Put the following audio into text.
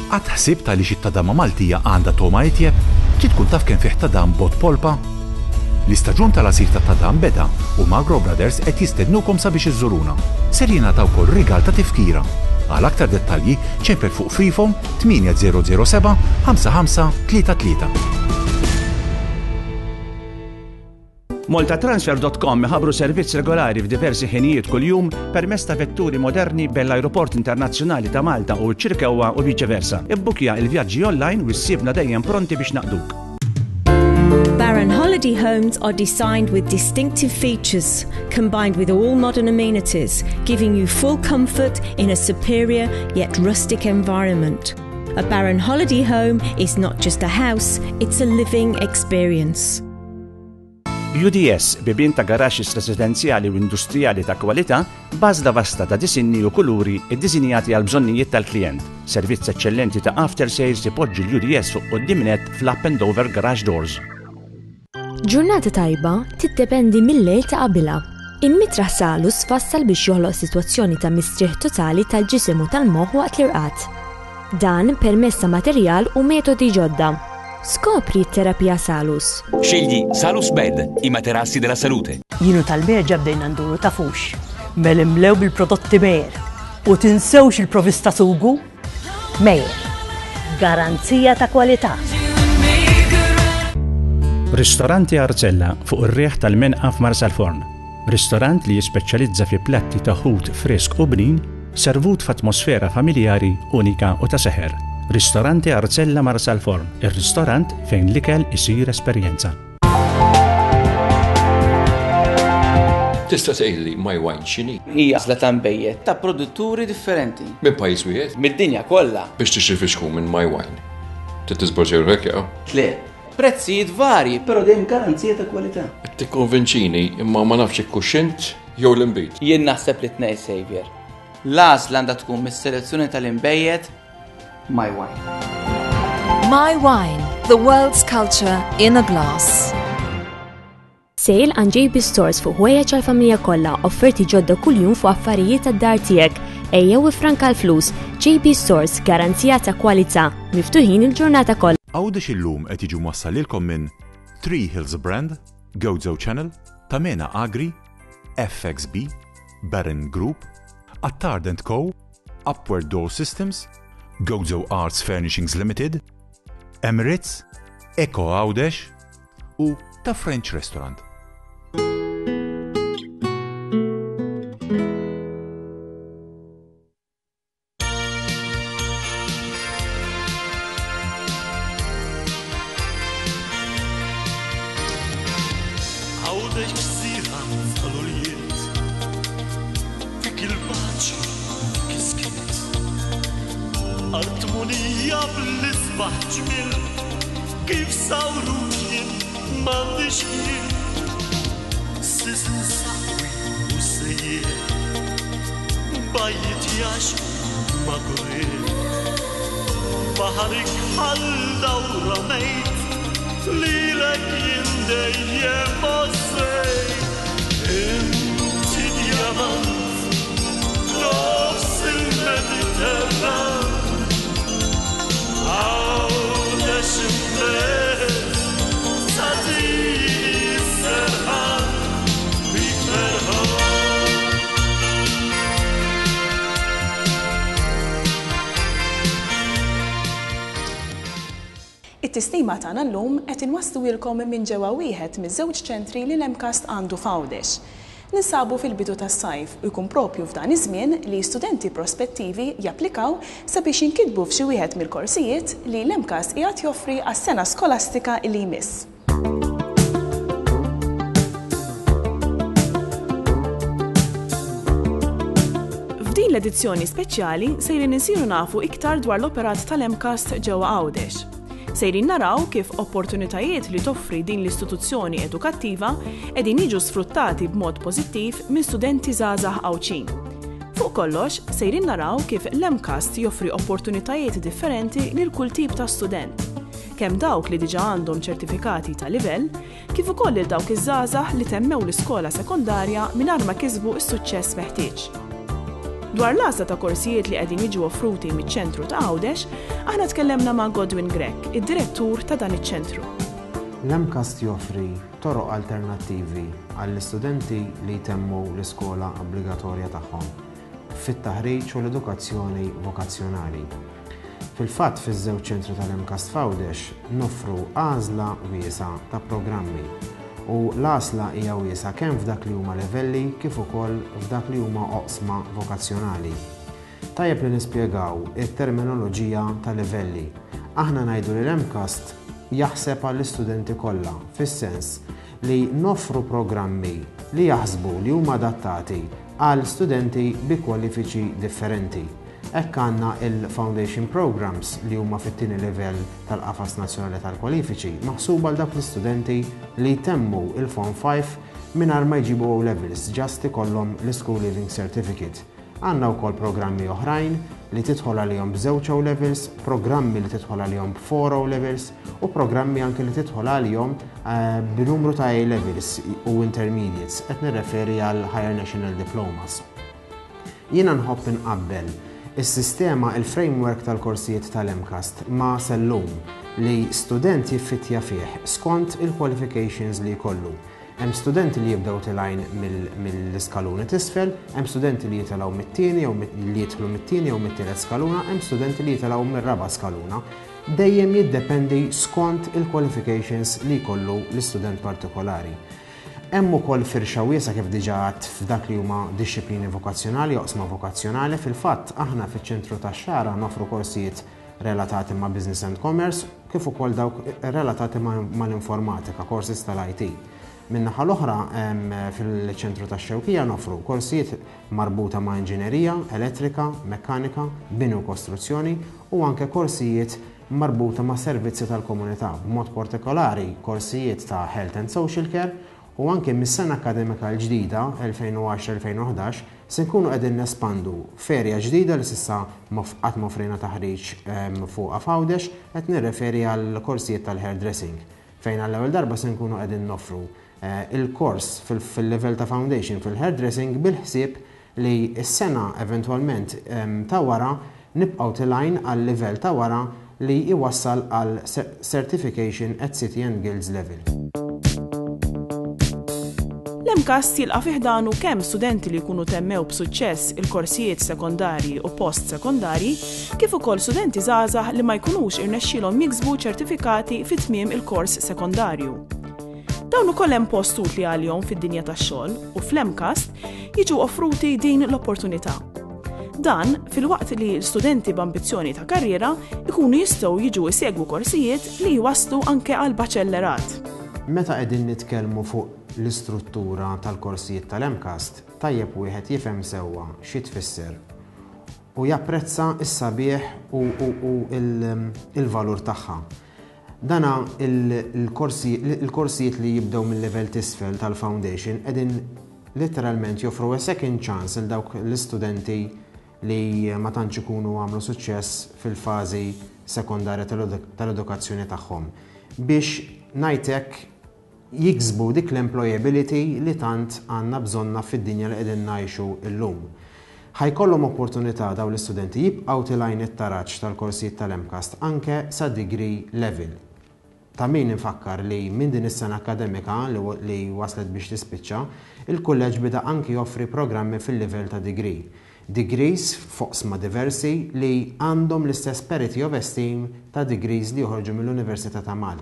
Qatt ħsibt għaliex it-tadama Maltija għandha togħma itjeb? Trid tkun taf kemm fih tadam b'bott polpa? L-istaġun tal-għasir tat-tadam beda u Magro Brothers qed jistednukom sabiex iżżuruna. Ser jingħata wkoll rigal ta' tifkira. Għal aktar dettalji ċempel fuq Freephone 8007 5533. Maltatransfer dot com iħabbru servizz regolari f'diversi ħinijiet kuljum permezz ta' vetturi moderni bejn l-Ajruport Internazzjonali ta' Malta u ċ-Ċirkewwa u viċe versa. Ibbukja il-vjaġġi online u ssibna dejjem pronti biex naqduk. Baron Holiday Homes are designed with distinctive features combined with all modern amenities, giving you full comfort in a superior yet rustic environment. A Baron Holiday Home is not just a house, it's a living experience. UDS, bibien ta' garaxxis residenzjali u industrijali ta' kwalità, b'għażla vasta ta' disinni u kuluri ddisinjati għall-bżonnijiet tal-klijent. Servizz eċċellenti ta' after sales ipoġġi l-UDS fuq quddiem nett fl-up and over garage doors. Ġurnata tajba tiddependi mil-lejl ta' qabilha. Il-mitraħ Salus tfassal biex joħloq sitwazzjoni ta' mistrieħ totali tal-ġisem u tal-moħħ waqt l-irqad. Dan permezz ta' materjal u metodi ġodda. Skopri t-terapija Salus. Scegli Salus Bed, i materassi della salute. Jien u tal-Berġa bdejna nduru tafux. Mela imlew bil-prodotti Meyer. U tinsewx il-provista sugu. Meyer. Garanzija ta' kwalità. Ristoranti Arzella fuq ir-riħ tal-Menqa f'Marsalforn. Ristorant li jispeċjalizza fi platti ta' ħut frisk u bnin servut f'atmosfera familjari unika u ta' seħer. Ristorante Arzella Marsalforn, ir-ristorant fejn l-ikel isir esperjenza. Tista' tgħidli My Wine x'inhi? Hija għażla ta' nbejjed ta' produtturi differenti. Minn pajjiż wieħed? Mid-dinja kollha. Biex tixtri fixkun minn My Wine, trid tiżborġi ruħek jew? Le. Prezzijiet varji, però dejjem garanzija ta' kwalità. Qed tikkonvinċini imma ma nafx jekk hux int jew l-inbid. Jien naħseb li t-tnejn Saviour. L-għażla għandha tkun mis-selezzjoni tal-inbejjed My Wine. My Wine, the world's culture in a glass. Sale għand JB Stores fuq ħwejjeġ għall-familja kollha, offerti ġodda kuljum fuq affarijiet tad-dar tiegħek. Ejjew iffranka l-flus. JB Stores, garanzija ta' kwalità. Miftuħin il-ġurnata kollha. Għawdex illum qed jiġu mwassal lilkom minn Three Hills Brand, Gozo Channel, Tamena Agri, FXB, Baron Group, Attard and Co, Upward Door Systems, Gozo Arts Furnishings Limited, Emirates, Eco Għawdex u Ta' French Restaurant. Għawdex gżira tal-ulied, fik il-paċi, fik is-skiet. Art munija bl-isbaħ ġmiel, kif sawruk jien m'għandix ħjiel. Sisin saqwi u sejjer, bajjiet jaxqu ma' gurrier. Baħar ikħal dawra mejt, lilek jien dejjem għożżejt. Inti djamant f'nofs il-Mediterran, Għawdex imbelt tagħtini s-serħan bik ferħan. It-tislima tagħna llum qed inwassluhielkom minn ġewwa wieħed miż-żewġ ċentri li l-MCAST għandu f'Għawdex. Ninsabu fil-bidu tas-sajf u jkun proprju f'dan iż-żmien li studenti prospettivi japplikaw sabiex jinkitbu f'xi wieħed mill-korsijiet li l-MCAST qiegħed joffri għas-sena skolastika li jmiss. F'din l-edizzjoni speċjali sejrin insiru nafu iktar dwar l-operat tal-MCAST ġewwa Għawdex. Sejrin naraw kif opportunitajiet li toffri din l-istituzzjoni edukattiva qegħdin jiġu sfruttati b'mod pożittiv minn studenti żgħażagħ Għawdxin. Fuq kollox, sejrin naraw kif l-MCAST joffri opportunitajiet differenti lil kull tip ta' student, kemm dawk li diġà għandhom ċertifikati ta' livell, kif ukoll lil dawk iż-żgħażagħ li temmew l-iskola sekondarja mingħajr ma kisbu s-suċċess meħtieġ. Dwar l-għażla ta' korsijiet li qegħdin jiġu offruti miċ-ċentru ta' Għawdex, aħna tkellemna ma' Godwin Grech, id-direttur ta' dan iċ-ċentru. L-MCAST joffri toroq alternattivi għall-istudenti li jtemmu l-iskola obbligatorja tagħhom fit-taħriġ u l-edukazzjoni vokazzjonali. Fil-fatt fiż-żewġ ċentri tal-MCAST f'Għawdex noffru għażla wiesgħa ta' programmi u l-għażla hija wiesgħa kemm f'dak li huma livelli kif ukoll f'dak li huma oqsma vokazzjonali. Tajjeb li nispjegaw it-terminoloġija ta' livelli. Aħna ngħidu li l-MCAST jaħseb għall-istudenti kollha fis-sens li noffru programmi li jaħsbu li huma adattati għal studenti bi kwalifiċi differenti. Hekk għandna il-Foundation Programmes li huma fit-tieni livell tal-Qafas Nazzjonali tal-Kwalifiċi, maħsuba għal dawk l-istudenti li jtemmu il-Form 5 mingħajr ma jġibu O Levels, just ikollhom l-School Leaving Certificate. Għandna wkoll programmi oħrajn li tidħol għalihom b'żewġ O Levels, programmi li tidħol għalihom b'four O Levels u programmi anke li tidħol għalihom eh, b'numru ta' A Levels u Intermediates, qed nirreferi għal Higher National Diplomas. Jiena nħobb inqabbel is-sistema, il-framework tal-korsijiet tal-MCAST ma' sellum li student jiffittja fih skont il-qualifications li jkollu. Hemm studenti li jibdew tilgħin mill-iskaluni t'isfel, hemm studenti li jitilgħu mit-tieni jew li jidħlu mit-tieni jew mit-tielet skaluna, hemm studenti li jitilgħu mir-raba' skaluna. Dejjem jiddependi skont il-qualifications li jkollu l-istudent partikolari. Hemm ukoll firxa wiesgħa kif diġà għedt f'dak li huma dixxiplini vokazzjonali, oqsma vokazzjonali. Fil-fatt, aħna fiċ-Ċentru tax-Xagħra noffru korsijiet relatati ma' Business and Commerce kif ukoll dawk relatati mal-informatika, courses tal-IT. Min-naħa l-oħra, fil-Ċentru tax-Xewkija noffru korsijiet marbuta ma' inġinerija, elettrika, mekkanika, bini u kostruzzjoni u anke korsijiet marbuta ma' servizzi tal-komunità, b'mod partikolari korsijiet ta' Health and Social Care u anke mis-sena akkademika l-ġdida, 2010-2011, se nkunu qegħdin nespandu f'area ġdida li s'issa qatt ma offrejna taħriġ fuqha f'Għawdex, qed nirreferi għall-korsijiet tal-hairdressing, fejn għall-ewwel darba se nkunu qegħdin noffru il-kors fil-livell ta' foundation fil-hairdressing bil-ħsieb li s-sena eventwalment ta' wara nibqgħu tilgħin għal livell ta' wara li jwassal għal certification at City and Guilds level. L-MCAST jilqa' fi ħdanu kemm studenti li jkunu temmew b'suċċess il-korsijiet sekondarji u post-sekondarji, kif ukoll studenti żgħażagħ li ma jkunux irnexxielhom jiksbu ċertifikati fi tmiem il-kors sekondarju. Dawn ukoll hemm post utli għalihom fid-dinja tax-xogħol u fl-MCAST jiġu offruti din l-opportunità. Dan filwaqt li l-studenti b'ambizzjoni ta' karriera ikunu jistgħu jiġu jsegwu korsijiet li jwasslu anke għal baċellerat. Meta qegħdin nitkellmu fuq l-istruttura tal-korsijiet tal-MCAST, tajjeb wieħed jifhem sewwa xi tfisser u japprezza s-sabiħ u l-valur tagħha. Dana il-korsijiet li jibdew mil-livell t'isfel tal-foundation qegħdin litteralment joffru a second chance lil dawk l-istudenti li ma tantx ikunu għamlu suċċess fil-fażi sekondarja tal-edukazzjoni tagħhom biex ngħid hekk jiksbu dik l-employability li tant għandna bżonnha fid-dinja li qegħdin ngħixu llum. Ħa jkollhom opportunità dawn l-istudenti jibqgħu tilgħin it-taraġ tal-korsijiet tal-MCAST anke sa degree level. Ta' min infakkar li minn din is-sena akkademika li waslet biex tispiċċa, il-Kulleġġ beda anki joffri programmi fil-livell ta' degree. Degrees f'oqsma diversi li għandhom l-istess parity of esteem ta' degrees li joħorġu mill-Università ta' Malta.